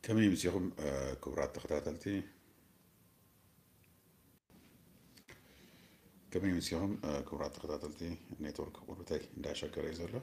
ከመይ ምሲኹም፣ እ፣ ክቡራት ተኸታተልቲ? ከመይ ምሲኹም፣ እ፣ ክቡራት ተኸታተልቲ? ኔትወርክ ቁርብተይ እንዳሸገረ እዩ ዘሎ።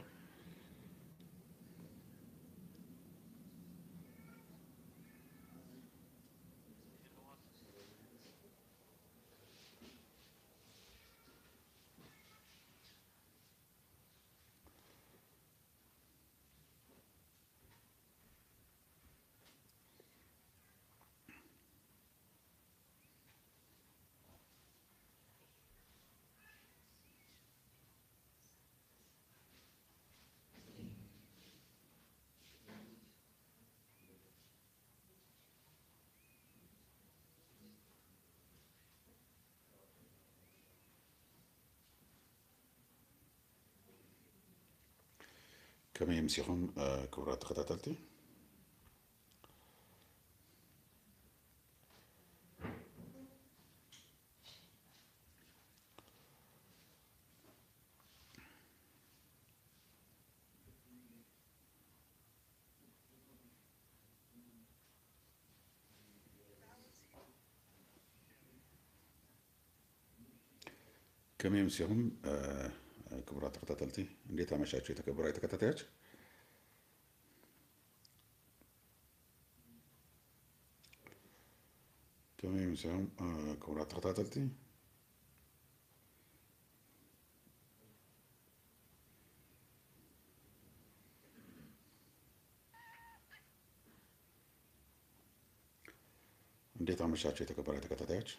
ከመይ ምሲኹም፣ እ፣ ክቡራት ተኸታተልቲ? ከመይ ምሲኹም፣ እ፣ ክቡራት ተኸታተልቲ? እንዴት አመሻችሁ የተከበራችሁ ተከታታዮች? ከመይ ምሲኹም፣ እ፣ ክቡራት ተኸታተልቲ? እንዴት አመሻችሁ የተከበራችሁ ተከታታዮች?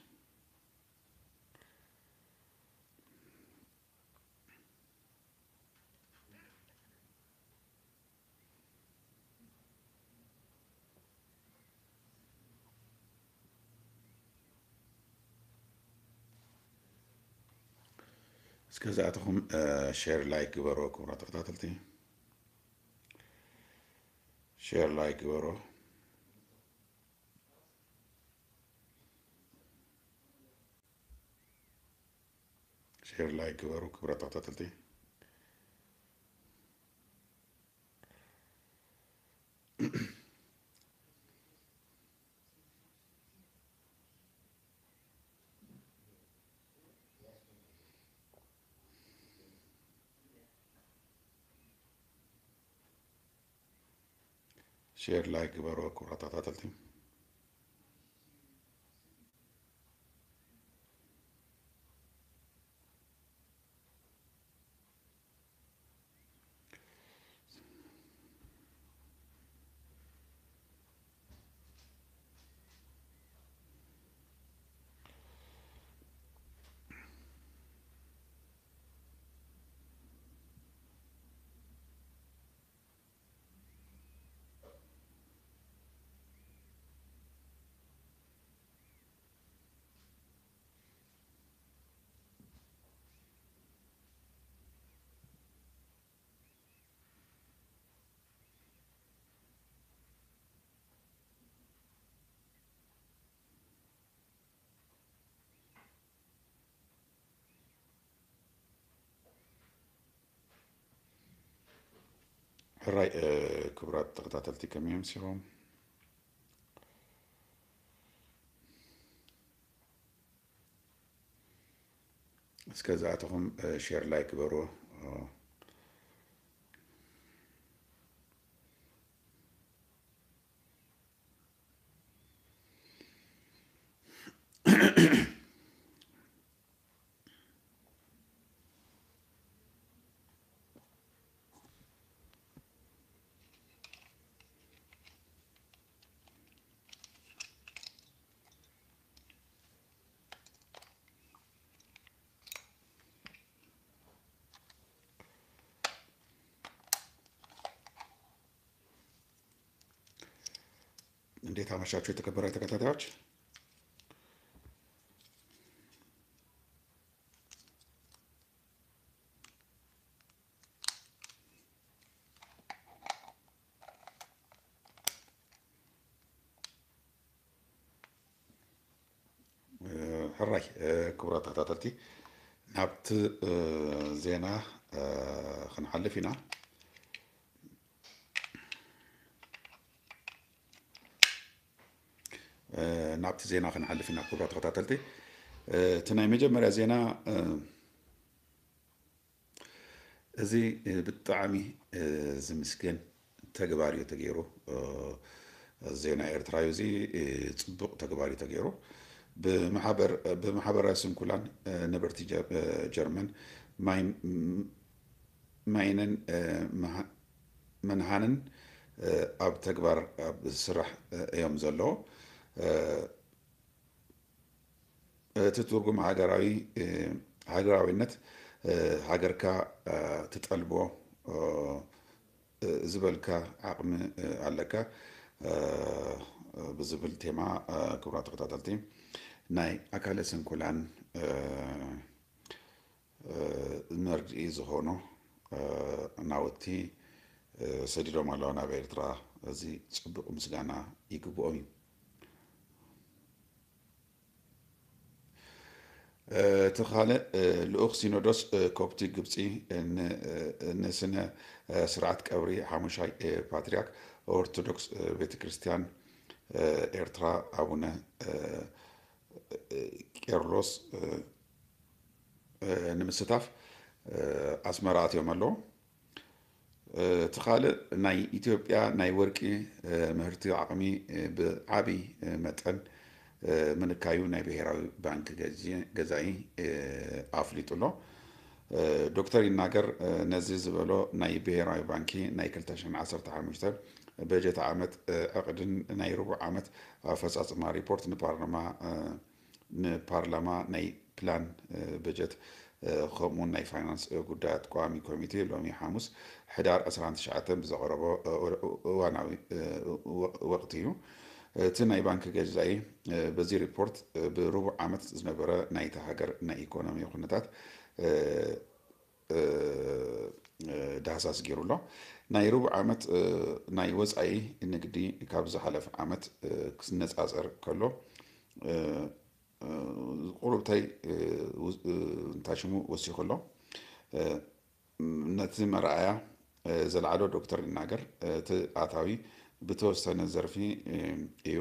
እስከ ዝኣተኹም፣ እ፣ ሼር ላይክ ግበሩ ክቡራት ተኸታተልቲ። ሼር ላይክ ግበሩ። ሼር ላይክ ግበሩ ክቡራት ተኸታተልቲ። ሼር ላይክ ግበሩ ክቡራት ተኸታተልቲ። ሕራይ፣ እ፣ ክቡራት ተኸታተልቲ ከመይ ኣምሲኹም? እስከ ዝኣተኹም፣ እ፣ ሼር ላይክ ግበሩ። እ፣ እንዴት አመሻችሁ የተከበራችሁ ተከታታዮች? እ፣ ሕራይ፣ እ፣ ክቡራት ተኸታተልቲ፣ ናብቲ፣ እ፣ ዜና፣ እ፣ ክንሓልፍ ኢና። ናብቲ ዜና ክንሓልፍ ኢና ክቡራት ተኸታተልቲ። እቲ ናይ መጀመርያ ዜና እዚ ብጣዕሚ ዝምስገን ተግባር እዩ ተገይሩ። ዜና ኤርትራ እዩ እዚ። ፅቡቕ ተግባር እዩ ተገይሩ። ብማሕበራዊ ስንኩላን ነበርቲ ጀርመን ማይነን መንሃንን ኣብ ተግባር ኣብ ስራሕ እዮም ዘለዉ። እቲ ትርጉም ሃገራዊ ሃገራዊነት ሃገርካ ትጠልቦ ዝበልካ ዓቕሚ ኣለካ ብዝብል ቴማ ክቡራት ተኸታተልቲ ናይ ኣካለ ስንኩላን መርድኢ ዝኾኑ ናውቲ ሰዲዶም ኣለዉ ናብ ኤርትራ። እዚ ጽቡቕ ምስጋና ይግብኦም እዩ። እቲ ካልእ ልኡኽ ሲኖዶስ ኮፕቲክ ግብጺ ንስነ ስርዓት ቀብሪ ሓሙሻይ ፓትርያርክ ኦርቶዶክስ ቤተ ክርስቲያን ኤርትራ ኣቡነ ቄርሎስ ንምስታፍ ኣስመራ ኣትዮም ኣለዉ። እቲ ካልእ ናይ ኢትዮጵያ ናይ ወርቂ ምህርቲ ዓቕሚ ብዓቢ መጠን ምንካዩ ናይ ብሄራዊ ባንክ ገዛኢ ኣፍሊጡ ኣሎ። ዶክተር ይናገር ነዚ ዝበሎ ናይ ብሄራዊ ባንኪ ናይ ክልተ ሽሕን ዓሰርተ ሓሙሽተ በጀት ዓመት ዕቕድን ናይ ርቡዕ ዓመት ኣፈፃፅማ ሪፖርት ንፓርላማ ንፓርላማ ናይ ፕላን በጀት ከምኡውን ናይ ፋይናንስ ጉዳያት ቋሚ ኮሚቴ ሎሚ ሓሙስ ሕዳር ዕስራን ትሽዓተን ብዘቕረቦ እዋናዊ ወቕቲ እዩ። እቲ ናይ ባንክ ገዛኢ በዚ ሪፖርት ብርቡዕ ዓመት ዝነበረ ናይታ ሃገር ናይ ኢኮኖሚ ኩነታት ዳህሳስ ገይሩ ኣሎ። ናይ ርቡዕ ዓመት ናይ ወፃኢ ንግዲ ካብ ዝሓለፈ ዓመት ክነፃፀር ከሎ ቁሩብታይ እንታይ ሽሙ ወሲኹ ኣሎ። ነቲ መርኣያ ዘልዓሎ ዶክተር ይናገር እቲ ኣታዊ ብተወሰነ ዘርፊ እዩ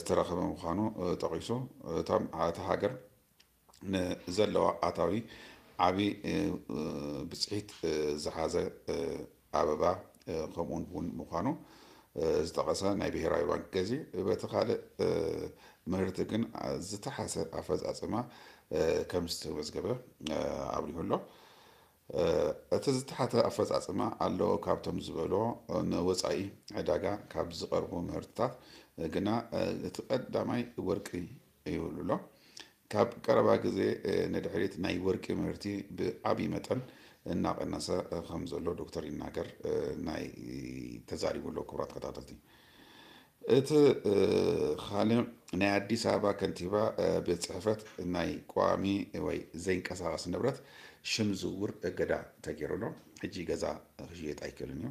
ዝተረኸበ ምዃኑ ጠቒሱ እቶም እታ ሃገር ንዘለዋ ኣታዊ ዓቢ ብፅሒት ዝሓዘ ኣበባ ከምኡውን ቡን ምዃኑ ዝጠቐሰ ናይ ብሄራዊ ባንክ ገዚ በቲ ካልእ ምህርቲ ግን ዝተሓሰ ኣፈፃፅማ ከም ዝተመዝገበ ኣብሪሁ ኣሎ። እቲ ዝተሓተ ኣፈፃፅማ ኣለዎ ካብቶም ዝበሎ ንወፃኢ ዕዳጋ ካብ ዝቐርቡ ምህርትታት ግና እቲ ቀዳማይ ወርቂ ይብሉ ኣሎ። ካብ ቀረባ ግዜ ንድሕሪት ናይ ወርቂ ምህርቲ ብዓብዪ መጠን እናቐነሰ ከም ዘሎ ዶክተር ይናገር ናይ ተዛሪቡ ኣሎ። ክቡራት ተኸታተልቲ እቲ ካልእ ናይ ኣዲስ ኣበባ ከንቲባ ቤት ፅሕፈት ናይ ቋሚ ወይ ዘይንቀሳቐስ ንብረት ሽም ዝውውር እገዳ ተገይሩ ኣሎ። ሕጂ ገዛ ክሽየጥ ኣይክእልን እዩ።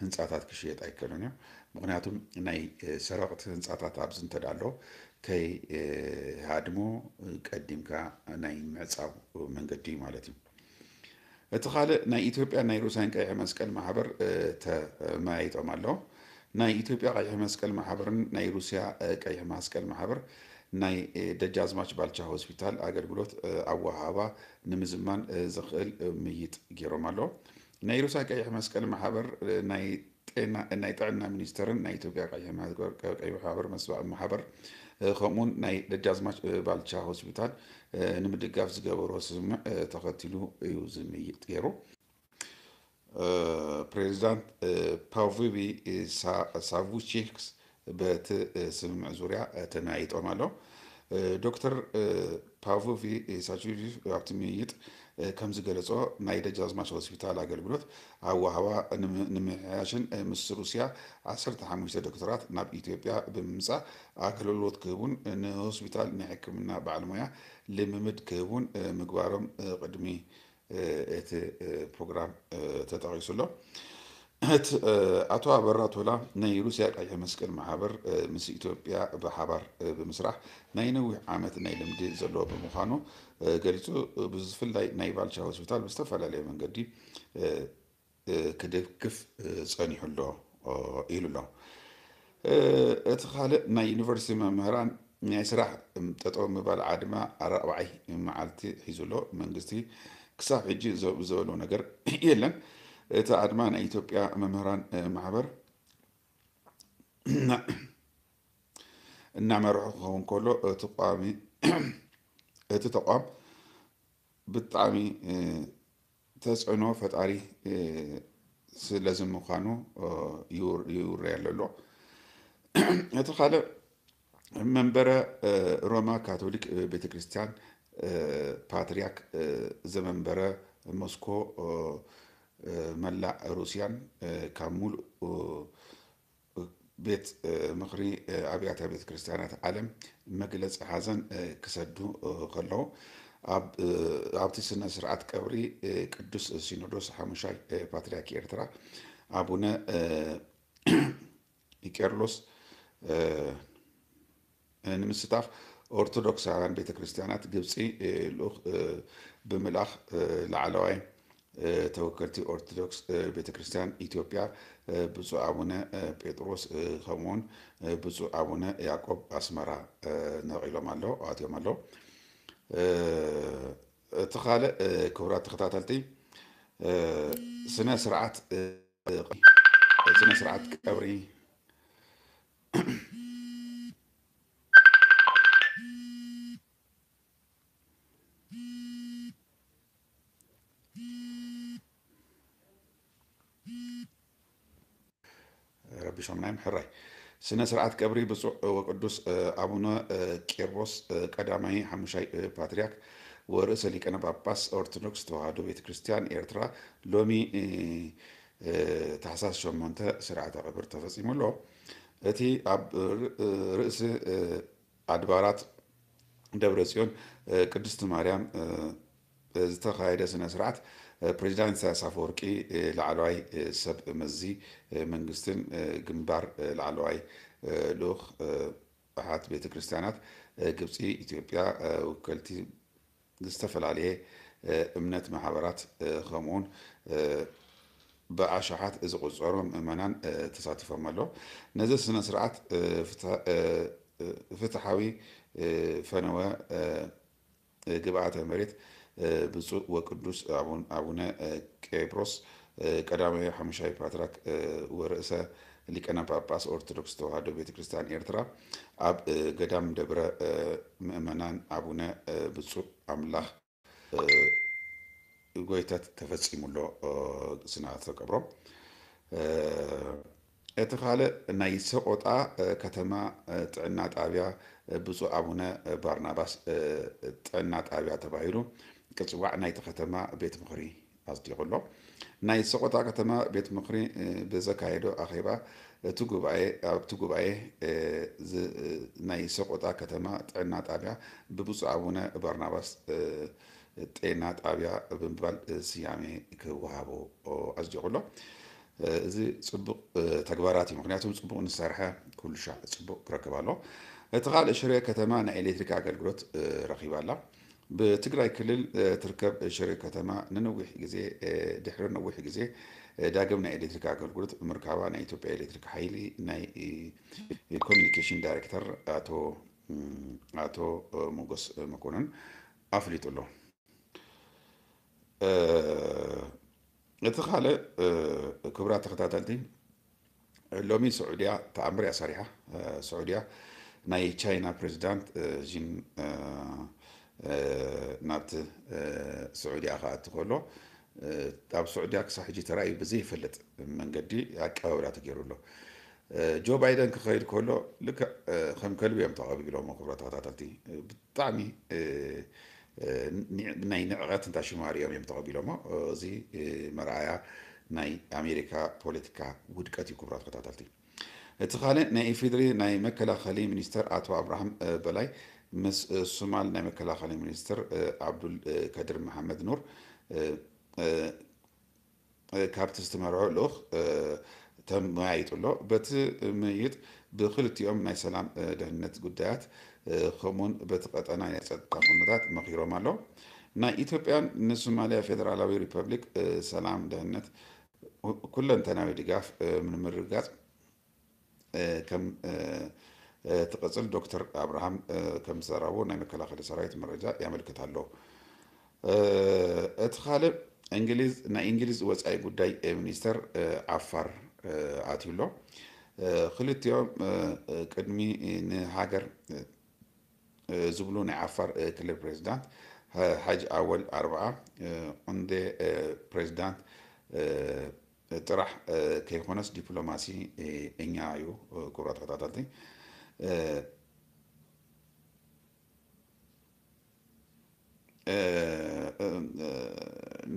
ህንፃታት ክሽየጥ ኣይክእልን እዩ። ምክንያቱም ናይ ሰረቕቲ ህንፃታት ኣብዚ እንተዳሎ ከይሃድሙ ቀዲምካ ናይ ምዕፃው መንገዲ እዩ ማለት እዩ። እቲ ካልእ ናይ ኢትዮጵያ ናይ ሩስያን ቀይሕ መስቀል ማሕበር ተመያይጦም ኣለዉ። ናይ ኢትዮጵያ ቀይሕ መስቀል ማሕበርን ናይ ሩስያ ቀይሕ መስቀል ማሕበር ናይ ደጃዝማች ባልቻ ሆስፒታል ኣገልግሎት ኣወሃባ ንምዝማን ዝኽእል ምይጥ ገይሮም ኣለዉ። ናይ ሩስያ ቀይሕ መስቀል ማሕበር ናይ ጥዕና ሚኒስተርን ናይ ኢትዮጵያ ቀይሕ ማሕበር መስዋእቲ ማሕበር ከምኡውን ናይ ደጃዝማች ባልቻ ሆስፒታል ንምድጋፍ ዝገበሮ ስምምዕ ተኸቲሉ እዩ ዝምይጥ ገይሩ። ፕሬዚዳንት ፓቪቪ ሳቡቺክስ በቲ ስምምዕ ዙርያ ተመያይጦም ኣሎ። ዶክተር ፓቮቪ ሳቹቪ ኣብቲ ምይይጥ ከም ዝገለጾ ናይ ደጃዝማች ሆስፒታል ኣገልግሎት ኣወሃባ ንምምሕያሽን ምስ ሩስያ ዓሰርተ ሓሙሽተ ዶክተራት ናብ ኢትዮጵያ ብምምጻእ ኣገልግሎት ክህቡን ንሆስፒታል ናይ ሕክምና በዓል ሞያ ልምምድ ክህቡን ምግባሮም ቅድሚ እቲ ፕሮግራም ተጠቒሱ ኣሎ። እቲ ኣቶ ኣበራ ቶላ ናይ ሩስያ ቀይሕ መስቀል ማሕበር ምስ ኢትዮጵያ ብሓባር ብምስራሕ ናይ ነዊሕ ዓመት ናይ ልምዲ ዘለዎ ብምዃኑ ገሊጹ፣ ብፍላይ ናይ ባልቻ ሆስፒታል ብዝተፈላለየ መንገዲ ክድግፍ ጸኒሑ ኣሎ ኢሉ ኣሎ። እቲ ካልእ ናይ ዩኒቨርሲቲ መምህራን ናይ ስራሕ ጠጠው ምባል ኣድማ ኣራብዓይ መዓልቲ ሒዙ ኣሎ። መንግስቲ ክሳብ ሕጂ ዘ- ዝበሎ ነገር የለን። እቲ ኣድማ ናይ ኢትዮጵያ መምህራን ማሕበር እናመርሑ ክኸውን ከሎ እቲ ቋሚ እቲ ተቋም ብጣዕሚ ተፅዕኖ ፈጣሪ ስለዚ ምዃኑ ይውረየሉ ኣሎ። እቲ ካልእ መንበረ ሮማ ካቶሊክ ቤተክርስትያን ፓትርያርክ ዘመንበረ ሞስኮ መላእ ሩስያን ካብ ሙሉእ ቤት ምኽሪ ኣብያተ ቤተ ክርስቲያናት ዓለም መግለፂ ሓዘን ክሰዱ ከለዉ ኣብቲ ስነ ስርዓት ቀብሪ ቅዱስ ሲኖዶስ ሓሙሻይ ፓትርያርክ ኤርትራ ኣቡነ ቄርሎስ ንምስታፍ ኦርቶዶክሳውያን ቤተ ክርስቲያናት ግብፂ ልኡኽ ብምልኣኽ ላዕለዋይ ተወከልቲ ኦርቶዶክስ ቤተ ክርስቲያን ኢትዮጵያ ብፁዕ ኣቡነ ጴጥሮስ ከምኡውን ብፁዕ ኣቡነ ያዕቆብ ኣስመራ ነቒሎም ኣለዉ ኣትዮም ኣለዉ። እቲ ካልእ ክቡራት ተኸታተልቲ ስነ ስርዓት ስነ ስርዓት ቀብሪ ረቢሾምና እዮም ሕራይ። ስነ ስርዓት ቀብሪ ብፁዕ ወቅዱስ ኣቡነ ቄርቦስ ቀዳማይ ሓሙሻይ ፓትርያርክ ወርእሰ ሊቀነ ጳጳስ ኦርቶዶክስ ተዋህዶ ቤተ ክርስቲያን ኤርትራ ሎሚ ታሕሳስ ሸሞንተ ስርዓተ ቀብር ተፈጺሙ ኣሎ። እቲ ኣብ ርእሲ ኣድባራት ደብረ ጽዮን ቅድስቲ ማርያም ዝተኻየደ ስነ ስርዓት ፕሬዚዳንት ኢሳያስ ኣፈወርቂ ላዕለዋይ ሰብ መዚ መንግስትን ግንባር ላዕለዋይ ልኡኽ ኣሓት ቤተ ክርስቲያናት ግብፂ ኢትዮጵያ ውከልቲ ዝተፈላለየ እምነት ማሕበራት ከምኡውን ብኣሽሓት ዝቑፀሩ ምእመናን ተሳቲፎም ኣሎ። ነዚ ስነ ስርዓት ፍትሓዊ ፈነወ ግብኣተ መሬት ብፁዕ ወቅዱስ ኣቡነ ቄብሮስ ቀዳማዊ ሓሙሻይ ፓትርያርክ ወርእሰ ሊቀነ ጳጳስ ኦርቶዶክስ ተዋህዶ ቤተ ክርስቲያን ኤርትራ ኣብ ገዳም ደብረ ምእመናን ኣቡነ ብፁዕ ኣምላኽ ጎይተት ተፈጺሙ ኣሎ ስነ ስርዓተ ቀብሮም። እቲ ካልእ ናይ ሰቆጣ ከተማ ጥዕና ጣብያ ብፁዕ ኣቡነ ባርናባስ ጥዕና ጣብያ ተባሂሉ ክፅዋዕ ናይቲ ከተማ ቤት ምኽሪ ኣጽዲቑ ኣሎ። ናይ ሰቆጣ ከተማ ቤት ምኽሪ ብዘካየዶ ኣኼባ እቲ ጉባኤ ኣብቲ ጉባኤ ናይ ሰቆጣ ከተማ ጥዕና ጣብያ ብብፁዕ ኣቡነ ባርናባስ ጤና ጣብያ ብምባል ስያሜ ክወሃቦ ኣጽዲቑ ኣሎ። እዚ ጽቡቕ ተግባራት እዩ። ምክንያቱም ጽቡቕ ንሰርሐ ኩሉ ሻዕ ጽቡቕ ክረክብ ኣሎ። እቲ ካልእ ሽረ ከተማ ናይ ኤሌክትሪክ ኣገልግሎት ረኺባ ኣላ። ብትግራይ ክልል ትርከብ ሽረ ከተማ ንነዊሕ ግዜ ድሕሪ ነዊሕ ግዜ ዳግም ናይ ኤሌክትሪክ ኣገልግሎት ምርካባ ናይ ኢትዮጵያ ኤሌክትሪክ ሓይሊ ናይ ኮሚኒኬሽን ዳይሬክተር ኣቶ ኣቶ ሞጎስ መኮነን ኣፍሊጡ ኣሎ። እቲ ካልእ ክቡራት ተኸታተልቲ ሎሚ ስዑድያ ተኣምር እያ ሰሪሓ። ስዑድያ ናይ ቻይና ፕሬዚዳንት ጂን ናብቲ ስዑድያ ክኣቱ ከሎ ኣብ ስዑድያ ክሳብ ሕጂ ተራእዩ ብዘይፈልጥ መንገዲ ኣቀባብላ ተገይሩ ኣሎ። ጆ ባይደን ክኸይድ ከሎ ልክዕ ከም ከልቢ እዮም ተቐቢሎሞ ክቡራት ተኸታተልቲ። ብጣዕሚ ናይ ንዕቐት እንታይ ሽማር እዮም እዮም ተቐቢሎሞ። እዚ መርኣያ ናይ ኣሜሪካ ፖለቲካ ውድቀት እዩ ክቡራት ተኸታተልቲ። እቲ ካልእ ናይ ኢፌድሪ ናይ መከላኸሊ ሚኒስተር ኣቶ ኣብርሃም በላይ ምስ ሱማል ናይ መከላኸሊ ሚኒስትር ኣብዱል ከድር መሓመድ ኑር ካብቲ ዝተመርዖ ልኡኽ ተመያይጡ ኣሎ። በቲ ምይይጥ ብክልቲኦም ናይ ሰላም ደህንነት ጉዳያት ከምኡውን በቲ ቀጠና ናይ ጸጥታ ኩነታት መኺሮም ኣለዉ። ናይ ኢትዮጵያን ንሶማልያ ፌደራላዊ ሪፐብሊክ ሰላም ደህንነት ኩለንተናዊ ድጋፍ ንምርግጋጽ ከም ትቐጽል ዶክተር ኣብርሃም ከም ዝተዛረቦ ናይ መከላኸሊ ሰራዊት መረጃ ያመልክት ኣሎ። እቲ ካልእ እንግሊዝ፣ ናይ እንግሊዝ ወጻኢ ጉዳይ ሚኒስተር ዓፋር ኣትዩ ኣሎ። ክልቲኦም ቅድሚ ንሃገር ዝብሉ ናይ ዓፋር ክልል ፕሬዚዳንት ሓጅ ኣወል ኣርብዓ እንደ ፕሬዚዳንት ጥራሕ ከይኮነስ ዲፕሎማሲ እኛ እዩ። ክቡራት ተኸታተልቲ፣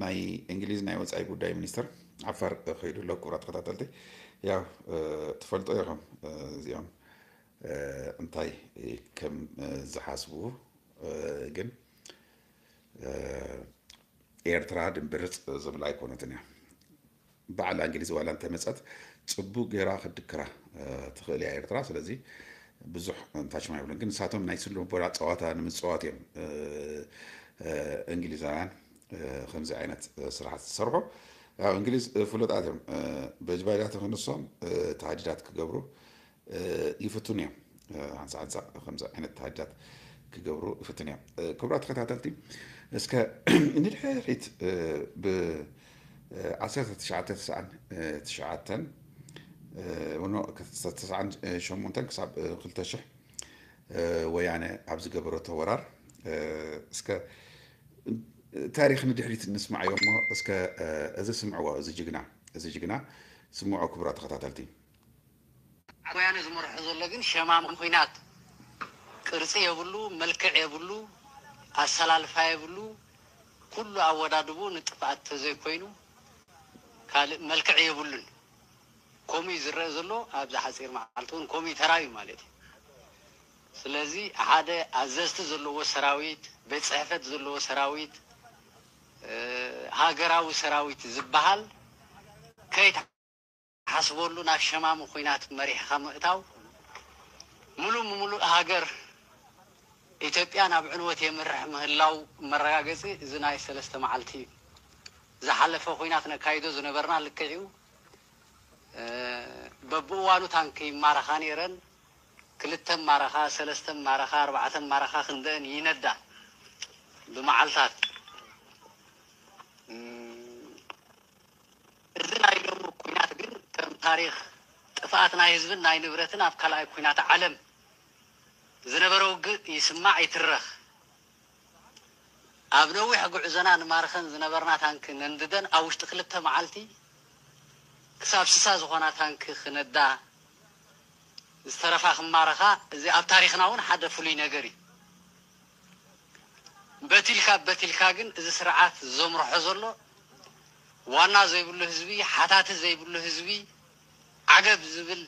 ናይ እንግሊዝ ናይ ወፃኢ ጉዳይ ሚኒስትር ዓፋር ከይዱ ኣሎ። ክቡራት ተኸታተልቲ፣ ያው ትፈልጦ ኢኹም እዚኦም እንታይ ከም ዝሓስቡ። ግን ኤርትራ ድንብርፅ ዝብላ ኣይኮነትን እያ። ባዕላ እንግሊዝ ዋላ እንተመፀት ፅቡቅ ገይራ ክድክራ ትኽእል እያ ኤርትራ። ስለዚ ብዙሕ እንታችም ኣይብሉን። ግን ንሳቶም ናይ ስነ ልቦና ፀዋታ ንምፅዋት እዮም እንግሊዛውያን ከምዚ ዓይነት ስራሕቲ ዝሰርሑ። ያው እንግሊዝ ፍሉጣት እዮም። በጅባጃት ክንሶም ተሃዲዳት ክገብሩ ይፍትኑ እዮም። ሓንሳ ሓንሳ ከምዚ ዓይነት ተሃዲዳት ክገብሩ ይፍትኑ እዮም። ክቡራት ተኸታተልቲ፣ እስከ ንድሕሪት ብ ዓሰርተ ትሽዓተ ተስዓን ትሽዓተን፣ ኖ፣ ተስዓን ሸሞንተን ክሳብ ክልተ ሽሕ ወያነ ኣብ ዝገበረቶ ወራር፣ እስከ ታሪኽ ንድሕሪት ንስማዓዮ እሞ፣ እስከ እዚ ስምዕዎ፣ እዚ ጅግና፣ እዚ ጅግና ስምዖ፣ ክቡራት ተኸታተልቲ። ወያነ ዝመርሖ ዘሎ ግን ሸማም ኲናት፣ ቅርጺ የብሉ፣ መልክዕ የብሉ፣ ኣሰላልፋ የብሉ። ኩሉ ኣወዳድቡ ንጥፍኣት ተዘይኮይኑ ካልእ መልክዕ የብሉን። ከምኡ እዩ ዝረአ ዘሎ ኣብዚ ሓጺር መዓልቲ እውን ከምኡ እዩ ተራእዩ ማለት እዩ። ስለዚ ሓደ ኣዘዝቲ ዘለዎ ሰራዊት፣ ቤት ጽሕፈት ዘለዎ ሰራዊት፣ ሃገራዊ ሰራዊት ዝበሃል ከይትሓስበሉ ናብ ሸማሚ ኲናት መሪሕኻ ምእታው፣ ምሉእ ብምሉእ ሃገር ኢትዮጵያ ናብ ዕንወት የምርሕ ምህላው መረጋገጺ እዚ ናይ ሰለስተ መዓልቲ እዩ። ዝሓለፈ ኲናት ነካይዶ ዝነበርና ልክዕ እዩ። በብእዋኑ ታንኪ ይማረኻ ነይረን። ክልተ ማረኻ፣ ሰለስተ ማረኻ፣ ኣርባዕተ ማረኻ ክንደአን ይነዳ ብመዓልታት። እዚ ናይ ሎሚ ኲናት ግን ከም ታሪኽ ጥፍኣት ናይ ህዝብን ናይ ንብረትን ኣብ ካልኣይ ኲናት ዓለም ዝነበረ ውግእ ይስማዕ ይትረኽ። ኣብ ነዊሕ ጉዕዞና ንማርኸን ዝነበርና ታንኪ ነንድደን ኣብ ውሽጢ ክልተ መዓልቲ ክሳብ ስሳ ዝኾና ታንኪ ክነዳ፣ ዝተረፋ ክማረኻ፣ እዚ ኣብ ታሪኽና እውን ሓደ ፍሉይ ነገር እዩ። በቲልካ በቲልካ ግን እዚ ስርዓት ዘምርሖ ዘሎ ዋና ዘይብሉ ህዝቢ፣ ሓታቲ ዘይብሉ ህዝቢ፣ ዓገብ ዝብል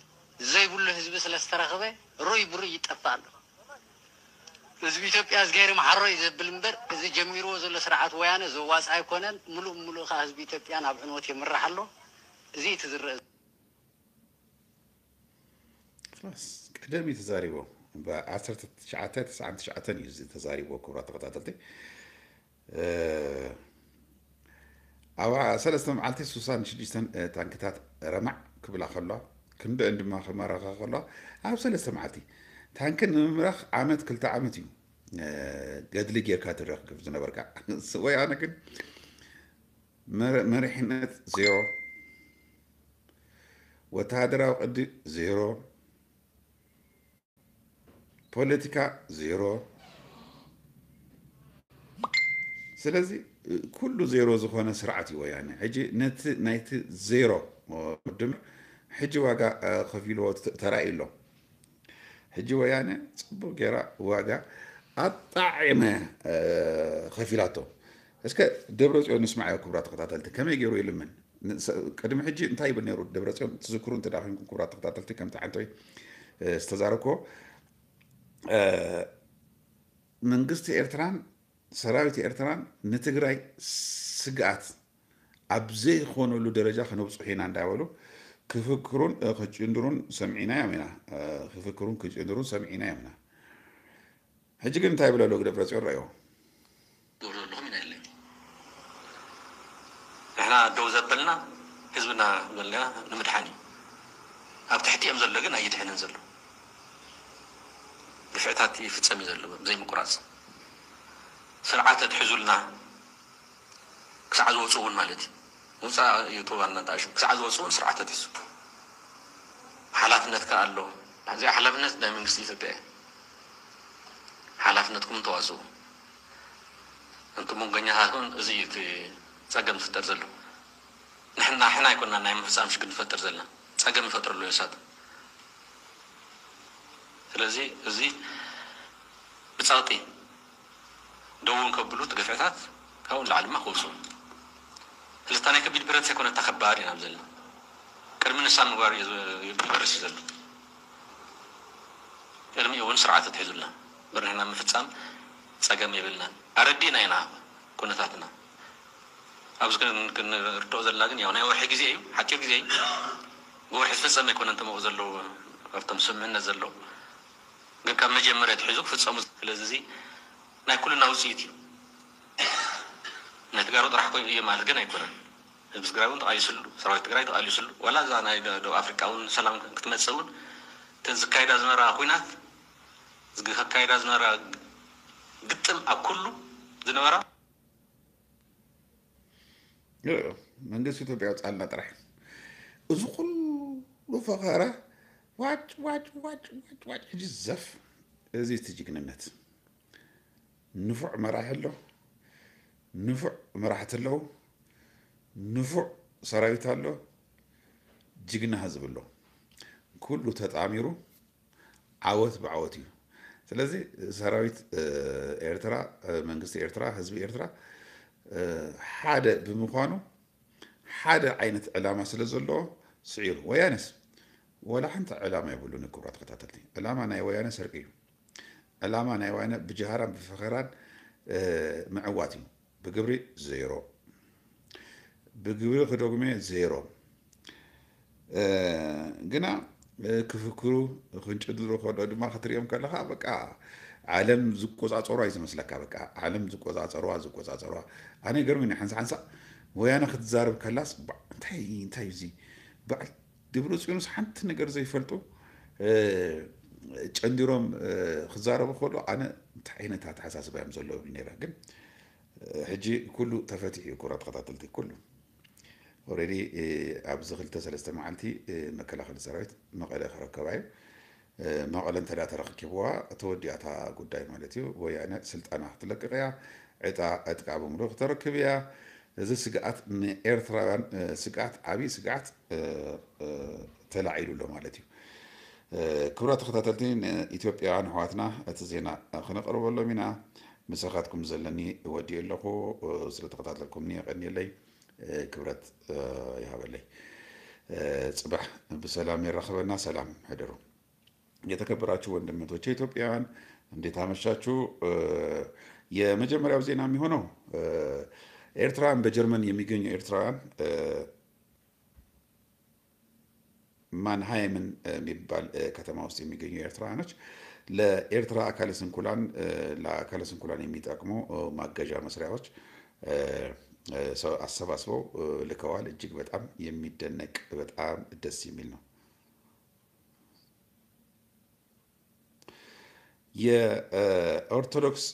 ዘይብሉ ህዝቢ ስለ ዝተረኸበ ሩይ ብሩይ ይጠፍእ ኣሎ። ህዝቢ ኢትዮጵያ እዝግሄር ይምሓሮ እዩ ዘብል እምበር፣ እዚ ጀሚርዎ ዘሎ ስርዓት ወያነ ዘዋፅእ ኣይኮነን። ምሉእ ብምሉእ ከዓ ህዝቢ ኢትዮጵያ ናብ ዕንወት የምርሕ ኣሎ። እዚ እቲ ዝረአ። ላስ ቀደም እዩ ተዛሪቦ። ብ ዓሰርተ ትሽዓተ ተስዓን ትሽዓተን እዩ እዚ ተዛሪቦ። ክቡራት ተኸታተልቲ፣ ኣብ ሰለስተ መዓልቲ ሱሳን ሽዱሽተን ታንክታት ረማዕ ክብላ ከለዋ፣ ክንደአን ድማ ክማረኻ ከለዋ፣ ኣብ ሰለስተ መዓልቲ ታንኪ ንምምራኽ ዓመት ክልተ ዓመት እዩ ገድሊ ጌርካ ትረክብ ዝነበርካ። ወያነ ግን መር-፣ መሪሕነት ዜሮ፣ ወተሃደራዊ ቅዲ ዜሮ፣ ፖለቲካ ዜሮ። ስለዚ ኩሉ ዜሮ ዝኾነ ስርዓት እዩ ወያነ። ሕጂ ነቲ ናይቲ ዜሮ ድምር ሕጂ ዋጋ ከፊልዎ ተራእዩ ኣሎ። ሕጂ ወያነ ጽቡቕ ጌራ ዋጋ ኣጣዒመ ከፊላቶ። እስከ ደብረ ጽዮን ንስማዓዮ ክቡራት ተኸታተልቲ፣ ከመይ ገይሩ ይልምን? ቅድሚ ሕጂ እንታይ ይብል ነይሩ ደብረ ጽዮን? ትዝክሩ እንተ ደኣ ኮይንኩም ክቡራት ተኸታተልቲ፣ ከምቲ ሓንቶይ ዝተዛረብክዎ፣ መንግስቲ ኤርትራን ሰራዊት ኤርትራን ንትግራይ ስግኣት ኣብ ዘይኾነሉ ደረጃ ከነብፅሑ ኢና እንዳበሉ ክፍክሩን ክጭንድሩን ሰሚዕናዮም ኢና። ክፍክሩን ክጭንድሩን ሰሚዕናዮም ኢና። ሕጂ ግን እንታይ ይብል ኣሎ ደብረፅዮን? ረኣዮ። ትገብሩ ዘለኹም ኢና የለይ። ንሕና ደው ዘበልና ህዝብና በልና ንምድሓን እዩ። ኣብ ትሕቲኦም ዘሎ ግን ኣይድሕንን ዘሎ። ግፍዕታት ይፍጸም እዩ ዘሎ ዘይምቁራጽ። ስርዓት ኣትሕዙልና ክሳዕ ዝወፁ እውን ማለት እዩ። ውፃእ እዩ ተባልና እንተኣሹ ክሳዕ ዝወፁ እውን ስርዓት ኣትሕዙ። ሓላፍነት ከኣ ኣሎ። እዚኣ ሓላፍነት ናይ መንግስቲ ኢትዮጵያ እዩ። ሓላፍነትኩም ተዋፅኡ። እንቱ መንጎኛታት እውን እዚ እዩ እቲ ፀገም ዝፍጠር ዘሎ። ንሕና ሕና ኣይኮና ናይ ምፍፃም ሽግር ንፈጥር ዘለና። ፀገም ይፈጥረሉ እሳት። ስለዚ እዚ ብፀቕጢ ደውን ከብሉ እቲ ግፍዕታት ካብኡ ንላዕሊ ድማ ክወፁ። ስለዚ እታ ናይ ከቢድ ብረት ዘይኮነ እታ ከባድ ኢና ዘለና። ቅድሚ ንሳ ምግባር እዩ ዝ- ይበርስ እዩ ዘሎ። ቅድሚኡ እውን ስርዓት ኣትሒዙልና እምበር ንሕና ምፍፃም ፀገም የብልናን። ኣረዲእና ኢና ኩነታትና። ኣብዚ ክን- ክንርድኦ ዘለና ግን ያው ናይ ወርሒ ግዜ እዩ፣ ሓፂር ግዜ እዩ። ብወርሒ ዝፍፀም ኣይኮነን ተመቑ ዘለዉ ኣብቶም ስምምነት ዘለዉ ግን ካብ መጀመርያ ኣትሒዙ ክፍፀሙ። ስለዚ እዚ ናይ ኩልና ውፅኢት እዩ። ናይ ተጋሩ ጥራሕ ኮይኑ እዩ ማለት ግን ኣይኮነን። ህዝቢ ትግራይ እውን ተቓሊስሉ፣ ሰራዊት ትግራይ ተቓሊስሉ። ዋላ እዛ ናይ ደ- ደቡብ ኣፍሪቃ እውን ሰላም ክትመፅእ እውን እተን ዝካየዳ ዝነበራ ኩናት ዝግ- ከካየዳ ዝነበራ ግጥም ኣብ ኩሉ ዝነበራ መንግስቲ ኢትዮጵያ ኣውፅኣልና ጥራሕ። እዚ ኩሉ ፈኸራ ዋጭ ዋጭ ዋጭ ዋጭ ዋጭ ሕጂ ዘፍ። እዚ እቲ ጅግንነት። ንፉዕ መራሒ ኣሎ፣ ንፉዕ መራሕቲ ኣለዉ፣ ንፉዕ ሰራዊት ኣሎ፣ ጅግና ህዝቢ ኣሎ። ኩሉ ተጣሚሩ ዓወት ብዓወት እዩ። ስለዚ ሰራዊት ኤርትራ፣ መንግስቲ ኤርትራ፣ ህዝቢ ኤርትራ ሓደ ብምዃኑ ሓደ ዓይነት ዕላማ ስለ ዘለዎ ስዒሩ። ወያነስ ወላ ሓንቲ ዕላማ የብሉን። ክቡራት ተኸታተልቲ፣ ዕላማ ናይ ወያነ ስርቂ እዩ። ዕላማ ናይ ወያነ ብጀሃራን ብፈኸራን ምዕዋት እዩ። ብግብሪ ዜሮ፣ ብግብሪ ክደጉሜ ዜሮ። ግና ክፍክሩ ክንጭድሩ ከሎ ድማ ክትሪኦም ከለኻ በቃ ዓለም ዝቆፃፀሩ እዩ ዝመስለካ። በቃ ዓለም ዝቆፃፀሩዋ ዝቆፃፀሩዋ። ኣነ ገርሚ ሓንሳ ሓንሳ ወያነ ክትዛረብ ከላስ እንታይ እንታይ እዚ በዓል ደብረፅዮንስ ሓንቲ ነገር ዘይፈልጡ ጨንዲሮም ክዛረቡ ከሎ ኣነ እንታይ ዓይነት ኣተሓሳስባ እዮም ዘለዎም ነይረ። ግን ሕጂ ኩሉ ተፈቲሑ እዩ። ክቡራት ተኸታተልቲ ኩሉ ኦልሬዲ ኣብዚ ክልተ ሰለስተ መዓልቲ መከላኸሊ ሰራዊት መቐለ ክረከባ እዩ። መቐለ እንተ ተረኪብዋ ተወዲኣታ ጉዳይ ማለት እዩ። ወያነ ስልጣና ክትለቅቕ እያ። ዕጣ ዕጥቃ ብምሉእ ክተረክብ እያ። እዚ ስግኣት ንኤርትራውያን ስግኣት ዓብዪ ስግኣት ተላዒሉ ኣሎ ማለት እዩ። ክቡራት ተኸታተልቲ ንኢትዮጵያውያን ኣሕዋትና እቲ ዜና ክነቕርበሎም ኢና። ምሳኻትኩም ዘለኒ ወዲኡ ኣለኹ። ስለተኸታተልኩምኒ የቐንየለይ። ክብረት ይሃበለይ። ፅባሕ ብሰላም የራኽበና። ሰላም ሕደሩ። የተከበራችሁ ወንድም እህቶቼ ኢትዮጵያውያን እንዴት አመሻችሁ? የመጀመሪያው ዜና የሚሆነው ኤርትራውያን በጀርመን የሚገኙ ኤርትራውያን ማንሃይምን የሚባል ከተማ ውስጥ የሚገኙ ኤርትራውያኖች ለኤርትራ አካለ ስንኩላን ለአካለ ስንኩላን የሚጠቅሙ ማገዣ መስሪያዎች አሰባስበው ልከዋል። እጅግ በጣም የሚደነቅ በጣም ደስ የሚል ነው። የኦርቶዶክስ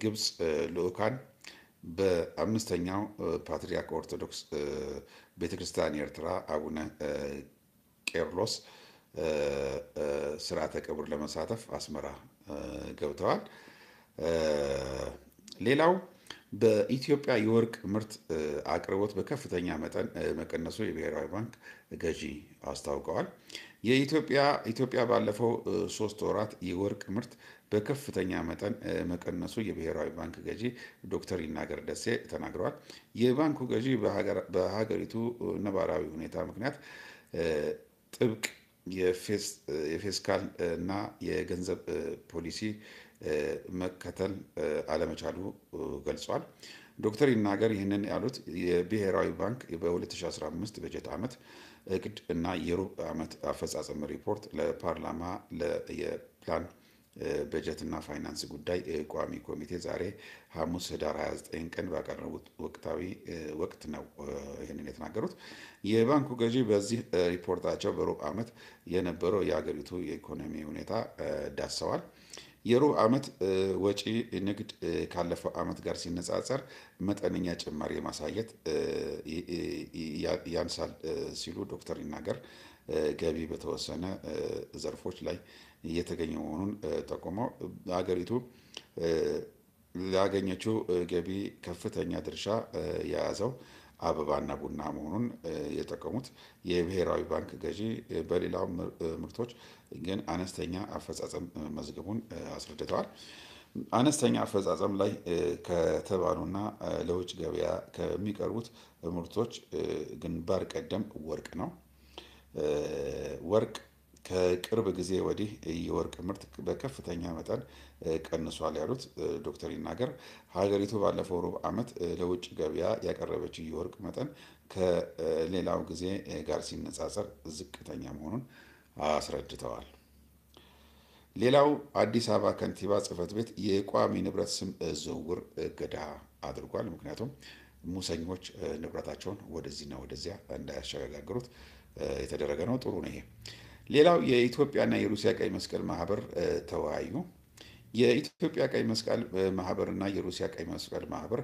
ግብጽ ልኡካን በአምስተኛው ፓትርያርክ ኦርቶዶክስ ቤተክርስቲያን ኤርትራ አቡነ ቄርሎስ ስርዓተ ቀብር ለመሳተፍ አስመራ ገብተዋል። ሌላው በኢትዮጵያ የወርቅ ምርት አቅርቦት በከፍተኛ መጠን መቀነሱ የብሔራዊ ባንክ ገዢ አስታውቀዋል። የኢትዮጵያ ኢትዮጵያ ባለፈው ሶስት ወራት የወርቅ ምርት በከፍተኛ መጠን መቀነሱ የብሔራዊ ባንክ ገዢ ዶክተር ይናገር ደሴ ተናግረዋል። የባንኩ ገዢ በሀገሪቱ ነባራዊ ሁኔታ ምክንያት ጥብቅ የፌስካል እና የገንዘብ ፖሊሲ መከተል አለመቻሉ ገልጿል። ዶክተር ይናገር ይህንን ያሉት የብሔራዊ ባንክ በ ሁለት ሺ አስራ አምስት በጀት ዓመት እቅድ እና የሩብ ዓመት አፈጻጸም ሪፖርት ለፓርላማ የፕላን በጀትና ፋይናንስ ጉዳይ ቋሚ ኮሚቴ ዛሬ ሐሙስ ህዳር ሃያ ዘጠኝ ቀን ባቀረቡት ወቅታዊ ወቅት ነው ይህንን የተናገሩት። የባንኩ ገዢ በዚህ ሪፖርታቸው በሩብ ዓመት የነበረው የአገሪቱ የኢኮኖሚ ሁኔታ ዳሰዋል። የሩብ ዓመት ወጪ ንግድ ካለፈው ዓመት ጋር ሲነጻጸር መጠነኛ ጭማሪ ማሳየት ያንሳል ሲሉ ዶክተር ይናገር ገቢ በተወሰነ ዘርፎች ላይ እየተገኘ መሆኑን ጠቁመው ሀገሪቱ ላገኘችው ገቢ ከፍተኛ ድርሻ የያዘው አበባና ቡና መሆኑን የጠቀሙት የብሔራዊ ባንክ ገዢ በሌላው ምርቶች ግን አነስተኛ አፈጻጸም መዝገቡን አስረድተዋል። አነስተኛ አፈጻጸም ላይ ከተባሉና ለውጭ ገበያ ከሚቀርቡት ምርቶች ግንባር ቀደም ወርቅ ነው። ወርቅ ከቅርብ ጊዜ ወዲህ የወርቅ ምርት በከፍተኛ መጠን ቀንሷል ያሉት ዶክተር ይናገር ሀገሪቱ ባለፈው ሩብ ዓመት ለውጭ ገበያ ያቀረበችው የወርቅ መጠን ከሌላው ጊዜ ጋር ሲነጻጸር ዝቅተኛ መሆኑን አስረድተዋል። ሌላው አዲስ አበባ ከንቲባ ጽህፈት ቤት የቋሚ ንብረት ስም ዝውውር እገዳ አድርጓል። ምክንያቱም ሙሰኞች ንብረታቸውን ወደዚህና ወደዚያ እንዳያሸጋግሩት የተደረገ ነው። ጥሩ ነው ይሄ። ሌላው የኢትዮጵያና የሩሲያ ቀይ መስቀል ማህበር ተወያዩ። የኢትዮጵያ ቀይ መስቀል ማህበርና የሩሲያ ቀይ መስቀል ማህበር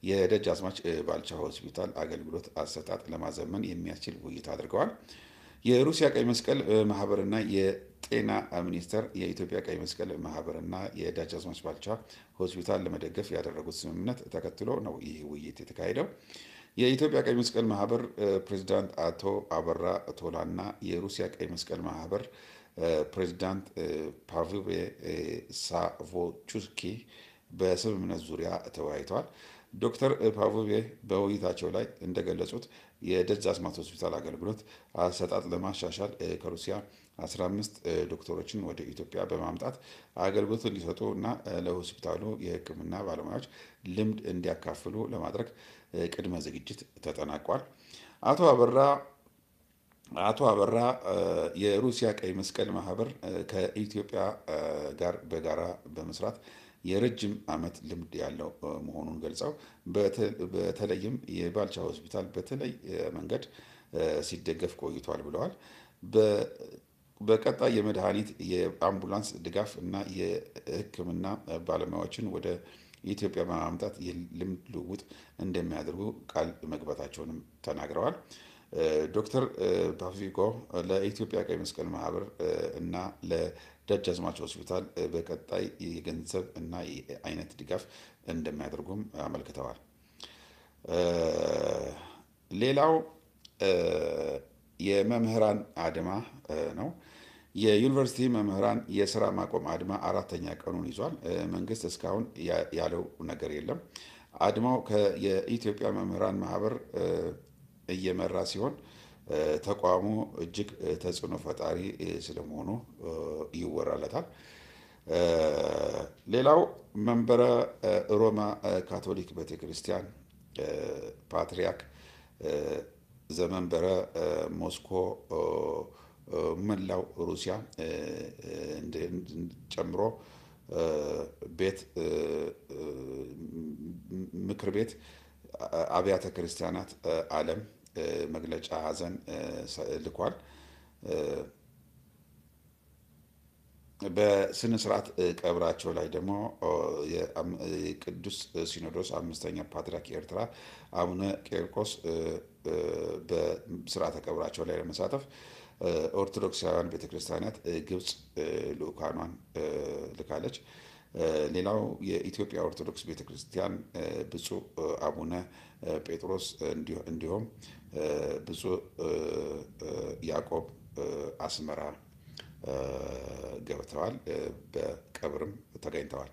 የደጃዝማች ባልቻ ሆስፒታል አገልግሎት አሰጣጥ ለማዘመን የሚያስችል ውይይት አድርገዋል። የሩሲያ ቀይ መስቀል ማህበርና የጤና ሚኒስቴር የኢትዮጵያ ቀይ መስቀል ማህበርና የደጃዝማች ባልቻ ሆስፒታል ለመደገፍ ያደረጉት ስምምነት ተከትሎ ነው ይህ ውይይት የተካሄደው። የኢትዮጵያ ቀይ መስቀል ማህበር ፕሬዚዳንት አቶ አበራ ቶላና የሩሲያ ቀይ መስቀል ማህበር ፕሬዚዳንት ፓቪል ሳቮቹስኪ በስምምነት ዙሪያ ተወያይተዋል። ዶክተር ፓቪል በውይይታቸው ላይ እንደገለጹት የደጃዝማች ሆስፒታል አገልግሎት አሰጣጥ ለማሻሻል ከሩሲያ አስራ አምስት ዶክተሮችን ወደ ኢትዮጵያ በማምጣት አገልግሎት እንዲሰጡ እና ለሆስፒታሉ የሕክምና ባለሙያዎች ልምድ እንዲያካፍሉ ለማድረግ ቅድመ ዝግጅት ተጠናቋል። አቶ አበራ አቶ አበራ የሩሲያ ቀይ መስቀል ማህበር ከኢትዮጵያ ጋር በጋራ በመስራት የረጅም ዓመት ልምድ ያለው መሆኑን ገልጸው በተለይም የባልቻ ሆስፒታል በተለይ መንገድ ሲደገፍ ቆይቷል ብለዋል። በቀጣይ የመድኃኒት፣ የአምቡላንስ ድጋፍ እና የሕክምና ባለሙያዎችን ወደ ኢትዮጵያ በማምጣት የልምድ ልውውጥ እንደሚያደርጉ ቃል መግባታቸውንም ተናግረዋል። ዶክተር ፓቪኮ ለኢትዮጵያ ቀይ መስቀል ማህበር እና ለደጃዝማች ሆስፒታል በቀጣይ የገንዘብ እና የአይነት ድጋፍ እንደሚያደርጉም አመልክተዋል። ሌላው የመምህራን አድማ ነው። የዩኒቨርሲቲ መምህራን የስራ ማቆም አድማ አራተኛ ቀኑን ይዟል። መንግስት እስካሁን ያለው ነገር የለም። አድማው የኢትዮጵያ መምህራን ማህበር እየመራ ሲሆን ተቋሙ እጅግ ተጽዕኖ ፈጣሪ ስለመሆኑ ይወራለታል። ሌላው መንበረ ሮማ ካቶሊክ ቤተክርስቲያን ፓትርያርክ ዘመንበረ ሞስኮ መላው ሩሲያ ጨምሮ ቤት ምክር ቤት አብያተ ክርስቲያናት ዓለም መግለጫ ሐዘን ልኳል። በስነ ስርዓት ቀብራቸው ላይ ደግሞ የቅዱስ ሲኖዶስ አምስተኛ ፓትርያርክ ኤርትራ አቡነ ቂርቆስ በስርዓተ ቀብራቸው ላይ ለመሳተፍ ኦርቶዶክሳውያን ቤተክርስቲያናት ግብጽ ልኡካኗን ልካለች። ሌላው የኢትዮጵያ ኦርቶዶክስ ቤተክርስቲያን ብፁዕ አቡነ ጴጥሮስ እንዲሁም ብፁዕ ያዕቆብ አስመራ ገብተዋል። በቀብርም ተገኝተዋል።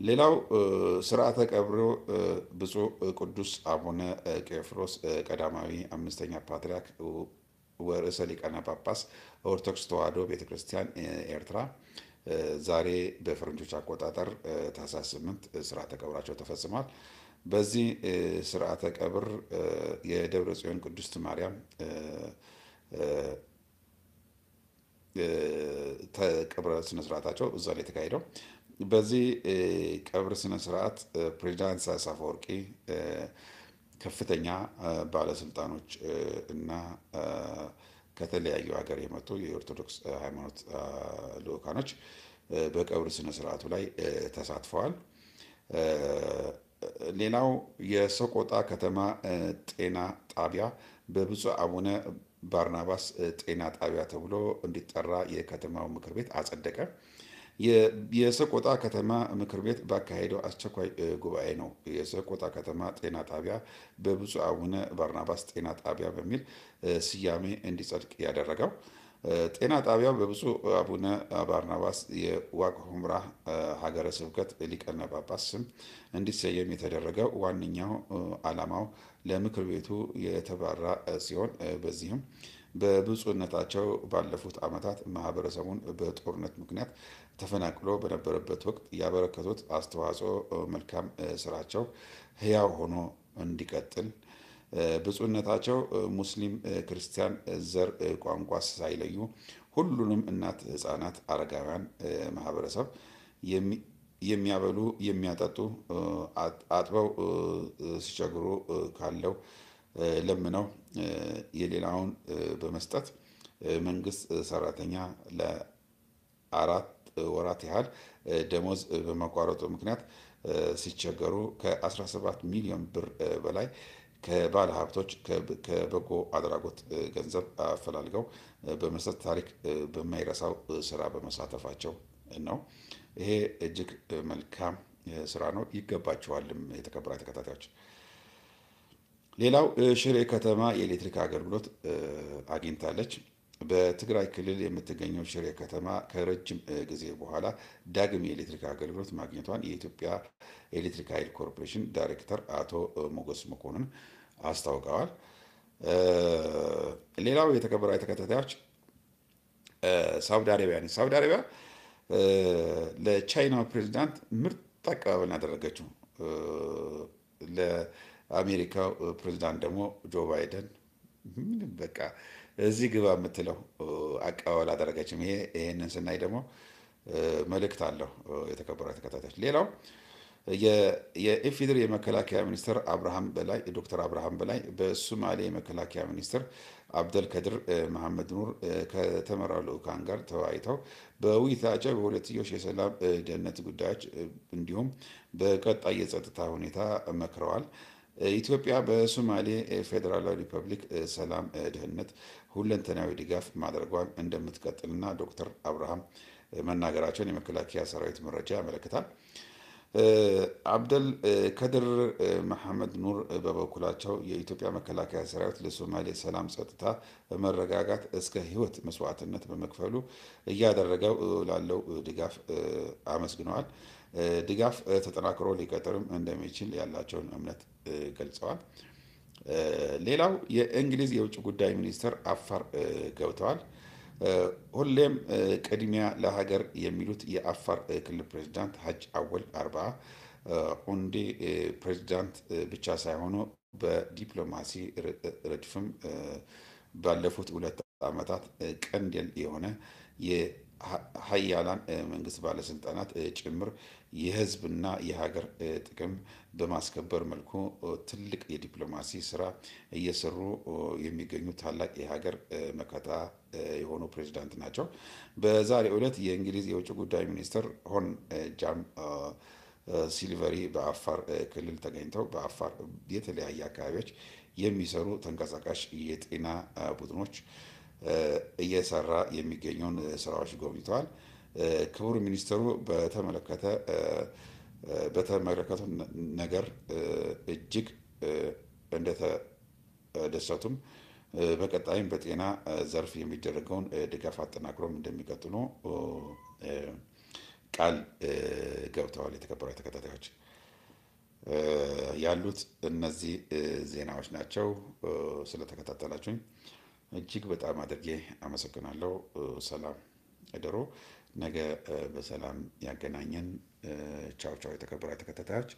ሌላው ስርዓተ ቀብሩ ብፁዕ ቅዱስ አቡነ ቄፍሮስ ቀዳማዊ አምስተኛ ፓትርያርክ ወርእሰ ሊቃነ ጳጳስ ኦርቶዶክስ ተዋሕዶ ቤተክርስቲያን ኤርትራ ዛሬ በፈረንጆች አቆጣጠር ታህሳስ ስምንት ስርዓተ ቀብራቸው ተፈጽሟል። በዚህ ስርዓተ ቀብር የደብረ ጽዮን ቅድስት ማርያም ቀብረ ስነስርዓታቸው እዛ ነው የተካሄደው። በዚህ ቀብር ስነስርዓት ፕሬዚዳንት ኢሳያስ አፈወርቂ፣ ከፍተኛ ባለስልጣኖች እና ከተለያዩ ሀገር የመጡ የኦርቶዶክስ ሃይማኖት ልኡካኖች በቀብር ስነስርዓቱ ላይ ተሳትፈዋል። ሌላው የሰቆጣ ከተማ ጤና ጣቢያ በብፁዕ አቡነ ባርናባስ ጤና ጣቢያ ተብሎ እንዲጠራ የከተማው ምክር ቤት አጸደቀ። የሰቆጣ ከተማ ምክር ቤት ባካሄደው አስቸኳይ ጉባኤ ነው የሰቆጣ ከተማ ጤና ጣቢያ በብፁዕ አቡነ ባርናባስ ጤና ጣቢያ በሚል ስያሜ እንዲጸድቅ ያደረገው። ጤና ጣቢያው በብፁዕ አቡነ ባርናባስ የዋግ ኹምራ ሀገረ ስብከት ሊቀነ ጳጳስ ስም እንዲሰየም የተደረገው ዋነኛው ዓላማው ለምክር ቤቱ የተባራ ሲሆን፣ በዚህም በብፁዕነታቸው ባለፉት ዓመታት ማህበረሰቡን በጦርነት ምክንያት ተፈናቅሎ በነበረበት ወቅት ያበረከቱት አስተዋጽኦ፣ መልካም ስራቸው ህያው ሆኖ እንዲቀጥል፣ ብፁዕነታቸው ሙስሊም፣ ክርስቲያን፣ ዘር፣ ቋንቋ ሳይለዩ ሁሉንም እናት፣ ህፃናት፣ አረጋውያን ማህበረሰብ የሚያበሉ፣ የሚያጠጡ፣ አጥበው ሲቸግሩ ካለው ለምነው የሌላውን በመስጠት መንግስት ሰራተኛ ለአራት ወራት ያህል ደሞዝ በመቋረጡ ምክንያት ሲቸገሩ ከ አስራ ሰባት ሚሊዮን ብር በላይ ከባለ ሀብቶች ከበጎ አድራጎት ገንዘብ አፈላልገው በመስጠት ታሪክ በማይረሳው ስራ በመሳተፋቸው ነው። ይሄ እጅግ መልካም ስራ ነው፣ ይገባቸዋልም። የተከበራችሁ ተከታታዮች፣ ሌላው ሽሬ ከተማ የኤሌክትሪክ አገልግሎት አግኝታለች። በትግራይ ክልል የምትገኘው ሽሬ ከተማ ከረጅም ጊዜ በኋላ ዳግም የኤሌክትሪክ አገልግሎት ማግኘቷን የኢትዮጵያ ኤሌክትሪክ ኃይል ኮርፖሬሽን ዳይሬክተር አቶ ሞገስ መኮንን አስታውቀዋል። ሌላው፣ የተከበራችሁ ተከታታዮች፣ ሳውዲ አረቢያ ነች። ሳውዲ አረቢያ ለቻይናው ፕሬዚዳንት ምርጥ አቀባበል ያደረገችው። ለአሜሪካው ፕሬዚዳንት ደግሞ ጆ ባይደን ምንም በቃ እዚህ ግባ የምትለው አቀባበል አደረገችም። ይሄ ይሄንን ስናይ ደግሞ መልእክት አለው። የተከበራችሁ ተከታታዮች፣ ሌላው የኢፌዴሪ የመከላከያ ሚኒስትር አብርሃም በላይ፣ ዶክተር አብርሃም በላይ በሶማሌ የመከላከያ ሚኒስትር አብደልከድር መሐመድ ኑር ከተመራው ልዑካን ጋር ተወያይተው በውይይታቸው በሁለትዮሽ የሰላም፣ ደህንነት ጉዳዮች እንዲሁም በቀጣይ የጸጥታ ሁኔታ መክረዋል። ኢትዮጵያ በሶማሌ ፌዴራላዊ ሪፐብሊክ ሰላም፣ ደህንነት ሁለንተናዊ ድጋፍ ማድረጓን እንደምትቀጥልና ዶክተር አብርሃም መናገራቸውን የመከላከያ ሰራዊት መረጃ ያመለክታል። አብደል ከድር መሐመድ ኑር በበኩላቸው የኢትዮጵያ መከላከያ ሰራዊት ለሶማሌ ሰላም፣ ጸጥታ፣ መረጋጋት እስከ ህይወት መስዋዕትነት በመክፈሉ እያደረገው ላለው ድጋፍ አመስግነዋል። ድጋፍ ተጠናክሮ ሊቀጥልም እንደሚችል ያላቸውን እምነት ገልጸዋል። ሌላው፣ የእንግሊዝ የውጭ ጉዳይ ሚኒስትር አፋር ገብተዋል። ሁሌም ቅድሚያ ለሀገር የሚሉት የአፋር ክልል ፕሬዚዳንት ሀጅ አወል አርባ ኡንዴ ፕሬዚዳንት ብቻ ሳይሆኑ በዲፕሎማሲ ረድፍም ባለፉት ሁለት ዓመታት ቀንዴል የሆነ የሀያላን መንግስት ባለስልጣናት ጭምር የህዝብና የሀገር ጥቅም በማስከበር መልኩ ትልቅ የዲፕሎማሲ ስራ እየሰሩ የሚገኙ ታላቅ የሀገር መከታ የሆኑ ፕሬዚዳንት ናቸው። በዛሬው ዕለት የእንግሊዝ የውጭ ጉዳይ ሚኒስትር ሆን ጃም ሲልቨሪ በአፋር ክልል ተገኝተው በአፋር የተለያየ አካባቢዎች የሚሰሩ ተንቀሳቃሽ የጤና ቡድኖች እየሰራ የሚገኘውን ስራዎች ጎብኝተዋል። ክቡር ሚኒስትሩ በተመለከተ በተመለከተው ነገር እጅግ እንደተደሰቱም በቀጣይም በጤና ዘርፍ የሚደረገውን ድጋፍ አጠናክሮም እንደሚቀጥሉ ቃል ገብተዋል። የተከበራችሁ ተከታታዮች፣ ያሉት እነዚህ ዜናዎች ናቸው። ስለተከታተላችሁኝ እጅግ በጣም አድርጌ አመሰግናለሁ። ሰላም እደሩ። ነገ በሰላም ያገናኘን። ቻው ቻው። የተከበራችሁ ተከታታዮች፣